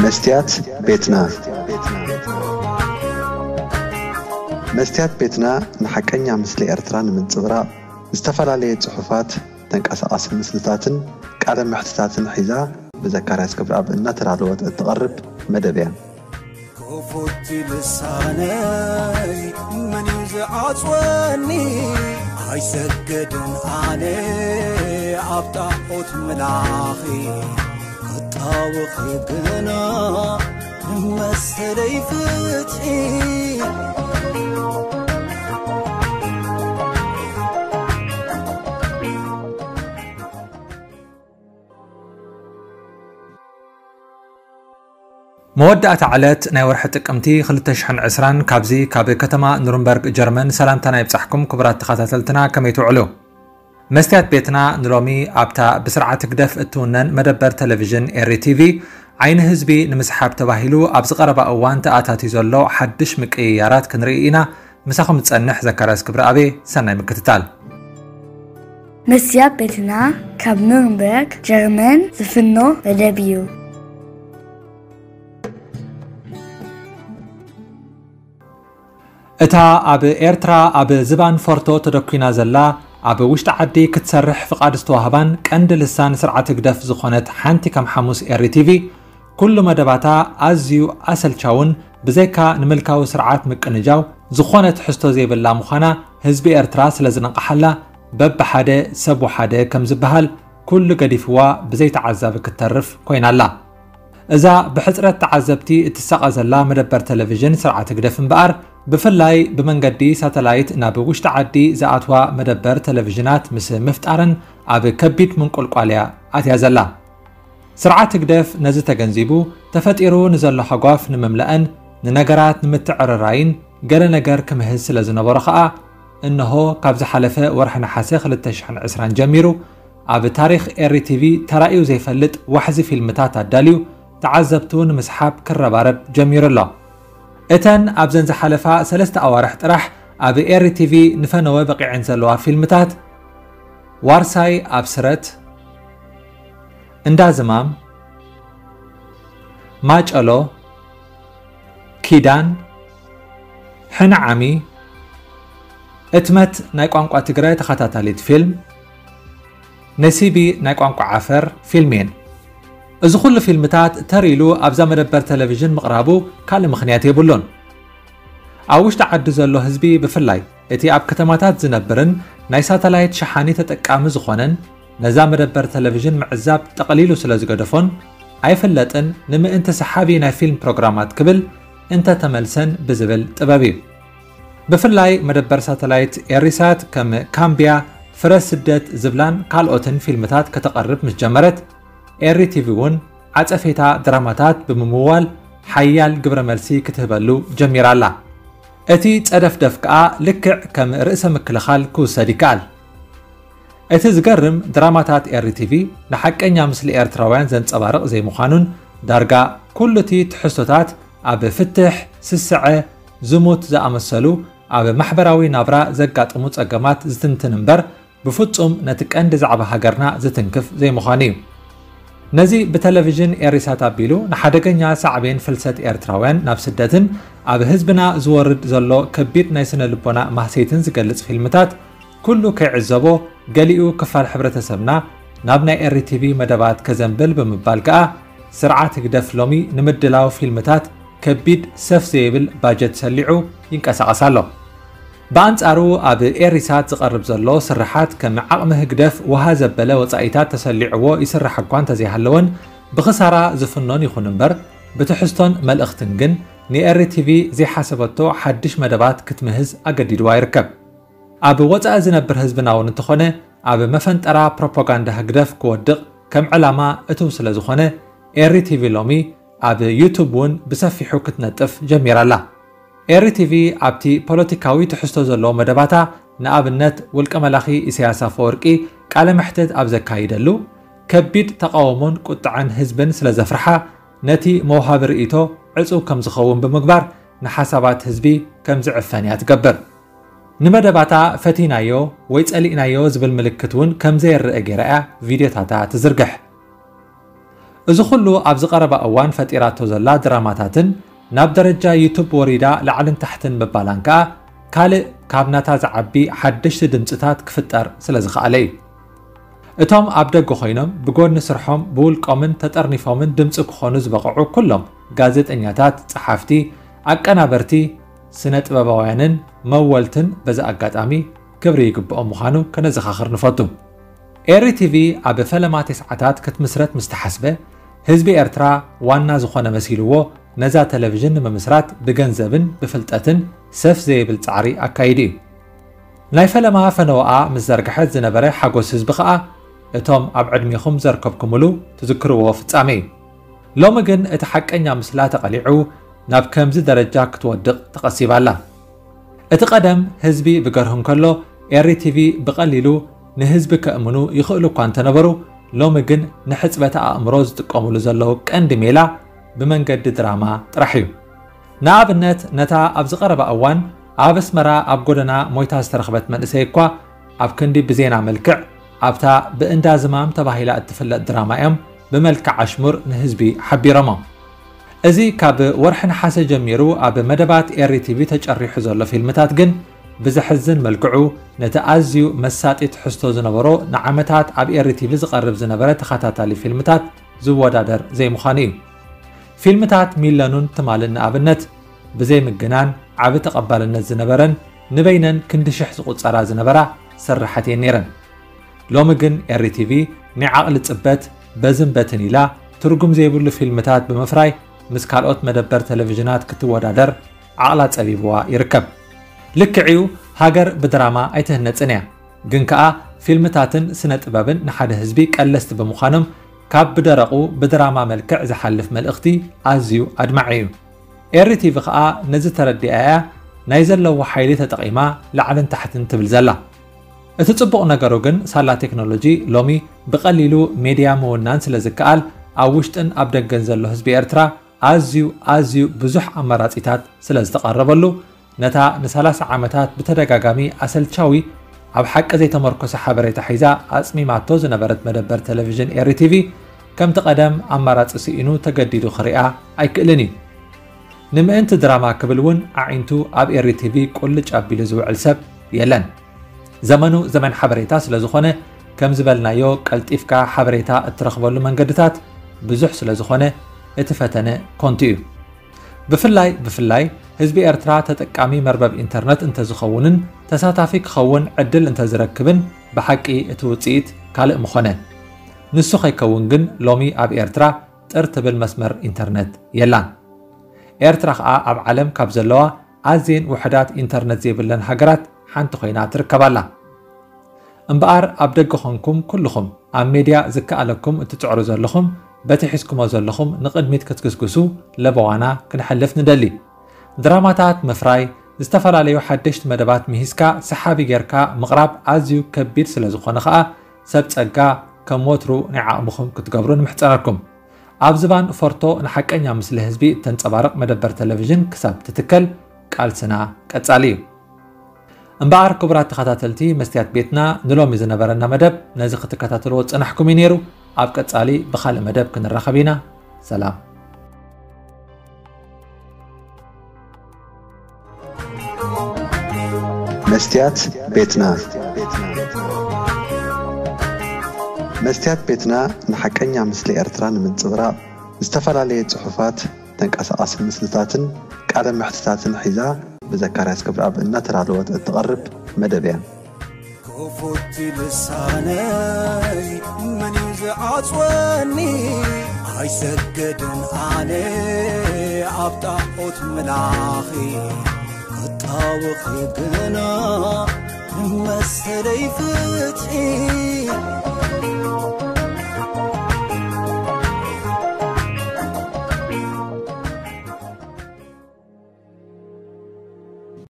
መስትያት ቤትና። መስትያት ቤትና ንሓቀኛ ምስሊ ኤርትራ ንምንጽብራቕ ዝተፈላለየ ጽሑፋት፣ ተንቀሳቓሲ ምስልታትን ቃለ መሕትታትን ሒዛ ብዘካርያስ ክብረኣብ እናተዳለወት እትቐርብ መደብ እያ። ክፉት ልሳነይ መን እዩ ዝዓጽወኒ? ኣይሰግድን ኣነ ኣብ ጣዖት ምላኺ፣ ክጣወኺ ግና ንመሰለይ ፍትሒ። መወዳእታ ዕለት ናይ ወርሒ ጥቅምቲ ክልተ ሽሕን ዕስራን ካብዚ ካብ ከተማ ኑርንበርግ ጀርመን ሰላምታና ይብጻሕኩም ክቡራት ተኸታተልትና፣ ከመይ ትውዕሉ? መስትያት ቤትና ንሎሚ ኣብታ ብስርዓት ህግደፍ እትውነን መደበር ቴሌቪዥን ኤሪ ቲቪ ዓይኒ ህዝቢ ንምስሓብ ተባሂሉ ኣብ ዝቐረባ እዋን ተኣታትዩ ዘሎ ሓድሽ ምቅይያራት ክንርኢ ኢና። ምሳኹም ዝጸንሕ ዘካርያስ ክብረኣብ። ሰናይ ምክትታል። መስትያት ቤትና ካብ ኑርንበርግ ጀርመን ዝፍኖ መደብ እዩ። እታ ኣብ ኤርትራ ኣብ ዝባን ፎርቶ ተደኲና ዘላ፣ ኣብ ውሽጢ ዓዲ ክትሰርሕ ፍቓድ ዝተዋህባን ቀንዲ ልሳን ስርዓት ህግደፍ ዝኾነት ሓንቲ ከም ሓሙስ ኤሪ ቲቪ፣ ኩሉ መደባታ ኣዝዩ ኣሰልቻውን ብዘይካ ንምልካዊ ስርዓት ምቅንጃው ዝኾነ ትሕዝቶ ዘይብላ ምዃና ህዝቢ ኤርትራ ስለ ዝነቕሓላ፣ በብሓደ ሰብ ወሓደ ከም ዝበሃል ኩሉ ገዲፍዋ ብዘይተዓዛቢ ክትተርፍ ኮይና ኣላ። እዛ ብሕጽረት ተዓዘብቲ እትሳቐ ዘላ መደበር ቴሌቪዥን ስርዓት ህግደፍ እምበኣር፣ ብፍላይ ብመንገዲ ሳተላይት ናብ ውሽጢ ዓዲ ዝኣትዋ መደበር ቴሌቪዥናት ምስ ምፍጣረን ኣብ ከቢድ ምንቁልቋል እያ ኣትያ ዘላ። ስርዓት ህግደፍ ነዚ ተገንዚቡ፣ ተፈጢሩ ንዘሎ ሃጓፍ ንምምላእን ንነገራት ንምትዕርራይን ገለ ነገር ክምህዝ ስለ ዝነበሮ ከኣ፣ እንሆ ካብ ዝሓለፈ ወርሒ ነሓሰ ክልተ ሽሕን ዕስራን ጀሚሩ፣ ኣብ ታሪኽ ኤሪ ቲቪ ተራእዩ ዘይፈልጥ ዋሕዚ ፊልምታት ኣዳልዩ፣ ተዓዘብቱ ንምስሓብ ክረባረብ ጀሚሩ ኣሎ። እተን ኣብዘን ዝሓለፋ ሰለስተ ኣዋርሕ ጥራሕ ኣብ ኤሪ ቲቪ ንፈነወ በቒዐን ዘለዋ ፊልምታት፣ ዋርሳይ ኣብ ስረት፣ እንዳ ዝማም፣ ማጨሎ፣ ኪዳን፣ ሕነ ዓሚ፣ እትመት ናይ ቋንቋ ትግረ ተኸታታሊት ፊልም፣ ነሲቢ ናይ ቋንቋ ዓፈር ፊልም እየን። እዚ ኩሉ ፊልምታት ተር ኢሉ ኣብዛ መደበር ቴሌቪዥን ምቕራቡ ካልእ ምኽንያት የብሉን። ኣብ ውሽጢ ዓዲ ዘሎ ህዝቢ ብፍላይ እቲ ኣብ ከተማታት ዝነብርን ናይ ሳተላይት ሸሓኒ ተጠቃሚ ዝኾነን ነዛ መደበር ቴሌቪዥን ምዕዛብ ጠቕሊሉ ስለ ዝገደፎን ኣይፍለጥን ንምእንቲ ሰሓቢ ናይ ፊልም ፕሮግራማት ክብል እንተተመልሰን ብዝብል ጥበብ እዩ። ብፍላይ መደበር ሳተላይት ኤሪሳት ከም ካምብያ፣ ፍረ ስደት ዝብላን ካልኦትን ፊልምታት ከተቐርብ ምስ ጀመረት፣ ኤሪ ቲቪ እውን ዓጸፌታ ድራማታት ብምምዋል ሓያል ግብረ መልሲ ክትህበሉ ጀሚራ ኣላ። እቲ ጸደፍደፍ ከኣ ልክዕ ከም ርእሰ ምክልኻል ክውሰድ ይከኣል። እቲ ዝገርም ድራማታት ኤሪ ቲቪ ንሓቀኛ ምስሊ ኤርትራውያን ዘንጸባርቕ ዘይምዃኑን ዳርጋ ኩሉ እቲ ትሕዝቶታት ኣብ ፍትሕ፣ ስስዐ፣ ዝሙት ዝኣመሰሉ ኣብ ማሕበራዊ ናብራ ዘጋጥሙ ጸገማት ዝትንትን እምበር ብፍጹም ነቲ ቀንዲ ዛዕባ ሃገርና ዝትንክፍ ዘይምዃኑ እዩ። ነዚ ብቴሌቪዥን ኤሪሳት ኣቢሉ ንሓደገኛ ሳዕቤን ፍልሰት ኤርትራውያን ናብ ስደትን ኣብ ህዝብና ዝወርድ ዘሎ ከቢድ ናይ ስነ ልቦና ማህሰይትን ዝገልጽ ፊልምታት ኩሉ ከይዕዘቦ ገሊኡ ክፋል ሕብረተሰብና ናብ ናይ ኤሪ ቲቪ መደባት ከዘንብል ብምባል ከኣ ስርዓት ህግደፍ ሎሚ ንምድላው ፊልምታት ከቢድ ሰፍ ዘይብል ባጀት ሰሊዑ ይንቀሳቐስ ኣሎ። ብኣንጻሩ ኣብ ኤሪሳት ዝቐርብ ዘሎ ስርሓት ከም ዓቕሚ ህግደፍ ውሃ ዘበለ ወጻኢታት ተሰሊዕዎ ይስራሕ እኳ እንተዘይሃለወን ብኽሳራ ዝፍኖን ይኹን እምበር ብትሕዝቶን መልእኽትን ግን ንኤሪ ቲቪ ዘይሓሰበቶ ሓድሽ መደባት ክትምህዝ ኣገዲድዋ ይርከብ። ኣብ ወጻኢ ዝነብር ህዝብና እውን እንተኾነ ኣብ መፈንጠራ ፕሮፓጋንዳ ህግደፍ ክወድቕ ከም ዕላማ እትው ስለ ዝኾነ ኤሪ ቲቪ ሎሚ ኣብ ዩቱብ እውን ብሰፊሑ ክትነጥፍ ጀሚራ ኣላ። ኤሪ ቲቪ ኣብቲ ፖለቲካዊ ትሕዝቶ ዘለዎ መደባታ ንኣብነት ውልቀ መላኺ ኢሳያስ ኣፈወርቂ ቃለ መሕትት ኣብ ዘካይደሉ ከቢድ ተቓውሞን ቁጥዐን ህዝብን ስለ ዘፍርሓ ነቲ መውሃቢ ርእይቶ ዕጹው ከም ዝኸውን ብምግባር ንሓሳባት ህዝቢ ከም ዝዕፈን እያ ትገብር። ንመደባታ ፈቲናዮ ወይ ጸሊእናዮ ዝብል ምልክት እውን ከም ዘየርእ ገይራ እያ ቪድዮታታ ትዝርግሕ። እዚ ኩሉ ኣብዚ ቀረባ እዋን ፈጢራቶ ዘላ ድራማታትን ናብ ደረጃ ዩቱብ ወሪዳ ላዕልን ታሕትን ምባላን ከኣ ካልእ ካብ ናታ ዝዓቢ ሓደሽቲ ድምጽታት ክፍጠር ስለ ዝኸኣለ እዩ። እቶም ኣብ ደገ ኮይኖም ብጎኒ ስርሖም ብውልቆምን ተጠርኒፎምን ድምጺ ክኾኑ ዝበቕዑ ኩሎም ጋዜጠኛታት፣ ጸሓፍቲ፣ ኣቀናበርቲ፣ ስነ ጥበባውያንን መወልትን በዚ ኣጋጣሚ ክብሪ ይግብኦም ምዃኑ ከነዘኻኽር ንፈቱ። ኤሪ ቲቪ ኣብ ፈለማ ተስዓታት ክትምስረት ምስ ተሓስበ፣ ህዝቢ ኤርትራ ዋና ዝኾነ መሲልዎ ነዛ ቴሌቪዥን ንምምስራት ብገንዘብን ብፍልጠትን ሰፍ ዘይብል ጻዕሪ ኣካይዱ እዩ። ናይ ፈለማ ፈነወኣ ምስ ዘርግሐት ዝነበረ ሓጎስ ህዝቢ ከኣ እቶም ኣብ ዕድሜኹም ዘርከብኩምሉ ትዝክርዎ ፍጻሜ እዩ። ሎሚ ግን እቲ ሓቀኛ ምስላ ተቐሊዑ ናብ ከምዚ ደረጃ ክትወድቕ ተቐሲባ ኣላ። እቲ ቀደም ህዝቢ ብገርሁ እንከሎ ኤሪ ቲቪ ብቐሊሉ ንህዝቢ ከእምኑ ይኽእሉ እኳ እንተነበሩ፣ ሎሚ ግን ንሕጽበተ ኣእምሮ ዝጥቀሙሉ ዘለዉ ቀንዲ ሜላ ብመንገዲ ድራማ ጥራሕ እዩ። ንኣብነት ነታ ኣብዚ ቀረባ እዋን ኣብ ኣስመራ ኣብ ጎደና ሞይታ ዝተረኽበት መንእሰይ እኳ ኣብ ክንዲ ብዜና መልክዕ ኣብታ ብእንዳ ዝማም ተባሂላ እትፍለጥ ድራማ እዮም ብመልክዕ ኣሽሙር ንህዝቢ ሓቢሮሞ። እዚ ካብ ወርሒ ነሓሰ ጀሚሩ ኣብ መደባት ኤሪ ቲቪ ተጨሪሑ ዘሎ ፊልምታት ግን ብዘሕዝን መልክዑ ነቲ ኣዝዩ መሳጢ ትሕዝቶ ዝነበሮ ንዓመታት ኣብ ኤሪ ቲቪ ዝቐርብ ዝነበረ ተኸታታሊ ፊልምታት ዝወዳደር ዘይምዃኑ እዩ። ፊልምታት ሚለኑን ትማልን ንኣብነት ብዘይ ምግናን ዓቢ ተቐባልነት ዝነበረን ንበይነን ክንዲ ሽሕ ዝቑጸራ ዝነበራ ስርሓት እየን ነይረን። ሎሚ ግን ኤሪ ቲቪ ናይ ዓቕሊ ጽበት በዝን በትን ኢላ ትርጉም ዘይብሉ ፊልምታት ብምፍራይ ምስ ካልኦት መደበር ቴሌቪዥናት ክትወዳደር ዓቕላ ጸቢብዋ ይርከብ። ልክዕዩ ሃገር ብድራማ ኣይትህነጽን እያ። ግን ከኣ ፊልምታትን ስነ ጥበብን ንሓደ ህዝቢ ቀለስቲ ብምዃኖም ካብ ብደረቑ ብድራማ መልክዕ ዝሓልፍ መልእኽቲ ኣዝዩ ኣድማዒ እዩ። ኤሪ ቲቪ ከኣ ነዚ ተረዲኣ እያ ናይ ዘለዎ ሓይሊ ተጠቒማ ላዕልን ታሕትን ትብል ዘላ። እቲ ጽቡቕ ነገሩ ግን ሳላ ቴክኖሎጂ ሎሚ ብቐሊሉ ሜድያ ምውናን ስለ ዝከኣል ኣብ ውሽጥን ኣብ ደገን ዘሎ ህዝቢ ኤርትራ ኣዝዩ ኣዝዩ ብዙሕ ኣማራጺታት ስለ ዝተቐረበሉ ነታ ንሰላሳ ዓመታት ብተደጋጋሚ ኣሰልቻዊ ኣብ ሓቂ ዘይተመርኮሰ ሓበሬታ ሒዛ ኣጽሚማቶ ዝነበረት መደበር ቴሌቪዥን ኤሪ ቲቪ ከምቲ ቀደም ኣማራጺ ስኢኑ ተገዲዱ ክሪኣ ኣይክእልን እዩ። ንምእንቲ ድራማ ክብል እውን ኣዒንቱ ኣብ ኤሪ ቲቪ ቁልጭ ኣቢሉ ዝውዕል ሰብ የለን። ዘመኑ ዘመን ሓበሬታ ስለ ዝኾነ ከም ዝበልናዮ ቀልጢፍካ ሓበሬታ እትረኽበሉ መንገድታት ብዙሕ ስለ ዝኾነ እቲ ፈተነ ኮንቱ እዩ። ብፍላይ ብፍላይ ህዝቢ ኤርትራ ተጠቃሚ መርበብ ኢንተርነት እንተዝኸውንን ተሳታፊ ክኸውን ዕድል እንተዝረክብን ብሓቂ እቲ ውጽኢት ካልእ ምኾነ። ንሱ ከይከውን ግን ሎሚ ኣብ ኤርትራ ጥር ትብል መስመር ኢንተርነት የላን። ኤርትራ ከኣ ኣብ ዓለም ካብ ዘለዋ ኣዝየን ውሑዳት ኢንተርነት ዘይብለን ሃገራት ሓንቲ ኮይና ትርከብ ኣላ። እምበኣር ኣብ ደገ ኾንኩም ኩልኹም ኣብ ሜድያ ዝከኣለኩም እትጽዕሩ ዘለኹም በቲ ሒዝኩሞ ዘለኹም ንቕድሚት ክትግስግሱ ለበዋና ክንሕልፍ ንደሊ። ድራማታት ምፍራይ፣ ዝተፈላለዩ ሓደሽቲ መደባት ምሂዝካ ሰሓቢ ጌርካ ምቕራብ ኣዝዩ ከቢድ ስለ ዝኾነ ኸኣ ሰብ ጸጋ ከም ወትሩ ናይ ዓቕምኹም ክትገብሩ ንምሕጸነኩም። ኣብ ዝባን ፎርቶ ንሓቀኛ ምስሊ ህዝቢ እተንጸባርቕ መደበር ቴሌቪዥን ክሳብ ትትከል ቃልስና ቀጻሊ እዩ። እምበኣር ክቡራት ተኸታተልቲ መስትያት ቤትና ንሎሚ ዝነበረና መደብ ነዚ ክትከታተልዎ ዝጸናሕኩም እዩ ነይሩ። ኣብ ቀጻሊ ብኻልእ መደብ ክንራኸብ ኢና። ሰላም። መስትያት ቤትና። መስትያት ቤትና ንሓቀኛ ምስሊ ኤርትራ ንምንጽብራቕ ዝተፈላለየ ጽሑፋት፣ ተንቀሳቓሲ ምስልታትን ቃለ መሕትታትን ሒዛ ብዘካርያስ ክብረኣብ እናተዳለወት እትቐርብ መደብ እያ። ክፉት ልሳነይ መን እዩ ዝዓጽወኒ? ኣይሰገድን ኣነ ኣብ ጣዖት ምላኺ፣ ክጣወኺ ግና ንመሰለይ ፍትሒ።